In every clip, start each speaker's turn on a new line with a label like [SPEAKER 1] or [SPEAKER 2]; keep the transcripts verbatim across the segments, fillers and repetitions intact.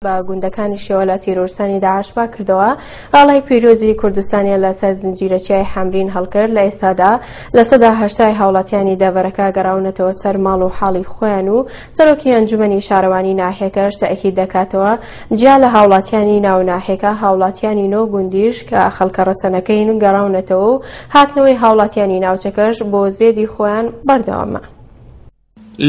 [SPEAKER 1] بە گوندەکانیشیەوە لە تیرۆرستانی داعش پاکردەوە، ئاڵای پیرۆزی کوردستانیان لەسەر زنجیرە چیای حەمرین هەڵکرد. لە ئێستادا لە سەدا هەشتای هاوڵاتیانی دەڤەرەکە گەڕاونەتەوە سەر ماڵ و حاڵی خۆیان و سەرۆکی ئەنجومەنی شارەوانی ناحیەکەش تەئکید دەکاتەوە جیا لە هاوڵاتیانی ناو ناحیەکە هاوڵاتیانی نۆ گوندیش کە خەڵکە ڕەسەنەکەین گەڕاونەتەوە و هاتنەوەی هاوڵاتیانی ناوچەکەش بۆ زێدی خۆیان بەردەوامە.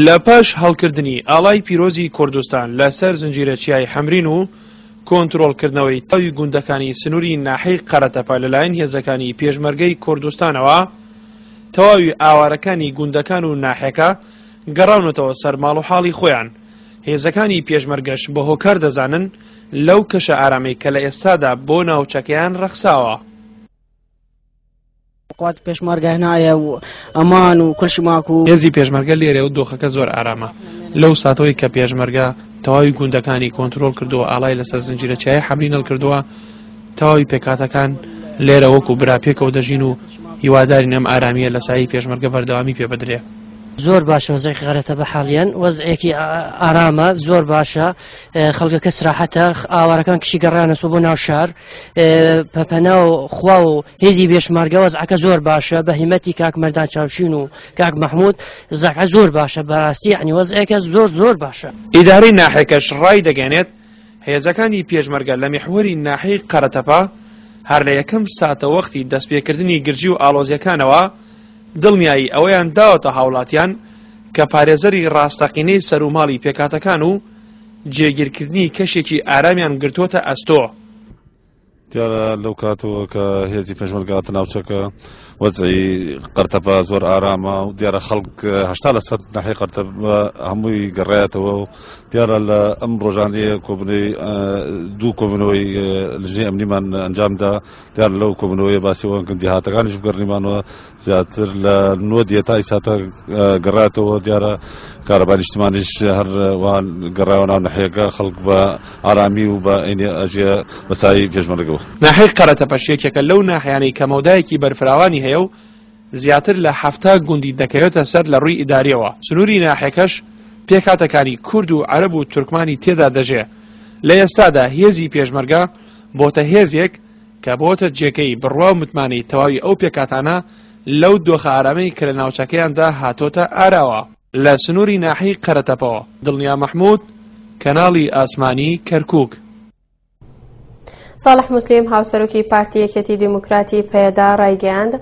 [SPEAKER 2] لە پاش هەڵکردنی ئاڵای پیرۆزی کوردستان لە سەر زنجیرە چیای حەمرین و کۆنترۆڵکردنەوەی تەواوی گوندەکانی سنووری ناحیەی قەرەتەپە لەلایەن هێزەکانی پێشمەرگەی کوردستانەوە، تەواوی ئاوارەکانی گوندەکان و ناحیەکە گەڕاونەتەوە سەر ماڵ و حاڵی خۆیان. هێزەکانی پێشمەرگەش بە هۆکار دەزانن لەو کەشە ئارامەی کە لە ئێستادا بۆ ناوچەکەیان ڕەخساوە.
[SPEAKER 3] قوات پێشمەرگە هنایە و ئەمان و كل شي ماكو.
[SPEAKER 2] هێزی پێشمەرگە لێرە و دۆخەکە زۆر ئارامە. لەو ساتەوەی کە پێشمەرگە تەواوی گوندەکانی کۆنترۆڵ کردووە، ئاڵای لەسەر زنجیرە چیای حەمرین هەڵکردووە، تەواوی پێکهاتەکان لێرە وەکو برا پێکەوە دەژین و هیوادارین ئەم ئارامییە لە سایەی پێشمەرگە بەردەوامی پێ بدرێ.
[SPEAKER 3] زۆر باشە وەزعی غەرەتە بە حاڵیان، وەزعێکی ئارامە، زۆر باشە، خەڵکەکە سراحەتە، ئاوارەکان کشی گەڕانەسەوە بۆ ناو شار، پەپەنا و خوا و هێزی بێشمارگە، وەزعەکە زۆر باشە بە هیمەتی کاک مەردان چاوشین و کاک مەحموود، وەزعەکە زۆر باشە بەڕاستی، یعنی وەزعێکە زۆر زۆر باشە.
[SPEAKER 2] ئیدارەی ناحیەکەش ڕایدەگەیەنێت هێزەکانی پێشمەرگە لە میحوەری ناحیەی قەرەتەپە هەر لە یەکەم ساتەوەختی دەستپێکردنی گرژی و ئاڵۆزیەکانەوە دڵنیایی ئەوەیان داوەتە هاوڵاتیان کە پارێزەری ڕاستەقینەی سەروماڵی پێکهاتەکان و جێگیرکردنی کەشێکی ئارامیان گرتووەتە ئەستۆ.
[SPEAKER 4] دیارە لەو کاتەوە کە هێزی پێشمەرگە هاتە ناوچەکە وەزعی قەرتەپە زۆر ئارامە و دیارە خەڵک هەشتا لە سەد ناحیەی قەرتەپە هەمووی گەڕایەتەوە و دیارە لە ئەم ڕۆژانەیە کۆبوونەوەی دوو کۆبوونەوەی لجنەی ئەمنیمان ئەنجامدا. دیارە لەو کۆبوونەوەیە باسی ئەوەن کە دیهاتەکانیش بگەڕنیمانەوە زیاتر لە نۆ دیە تا ئیساتە گەڕایەتەوە. دیارە کارەبا نیشتمانیش هەر وان گەڕایەوە ناو ناحیەکە، خەڵک بە ئارامی و بە ئەینی ئەژیە بە سایەی پێشمەرگەوە.
[SPEAKER 2] ناحیەی قەرەتەپەش یەکێکە لەو ناحیانەی کە مەودایەکی بەرفراوانی هەیە و زیاتر لە حەفتا گوندی دەکەوێتە سەر لە ڕووی ئیداریەوە. سنووری ناحیەکەش پێکهاتەکانی کورد و عەرەب و تورکمانی تێدا دەژێ. لە ئێستادا هێزی پێشمەرگە بۆتە هێزێک کە بۆتە جێگەی بڕوا و متمانەی تەواوی ئەو پێکهاتانە لەو دۆخە ئارامەی کە لە ناوچەکەیاندا هاتۆتە ئاراوە. لە سنووری ناحیەی قەرەتەپەوە دڵنیا مەحموود، کەناڵی ئاسمانی کەرکووک.
[SPEAKER 1] ساڵح موسلیم هاوسەرۆکی پارتی یەکێتی دیموکراتی پەیەدە ڕایگەیاند،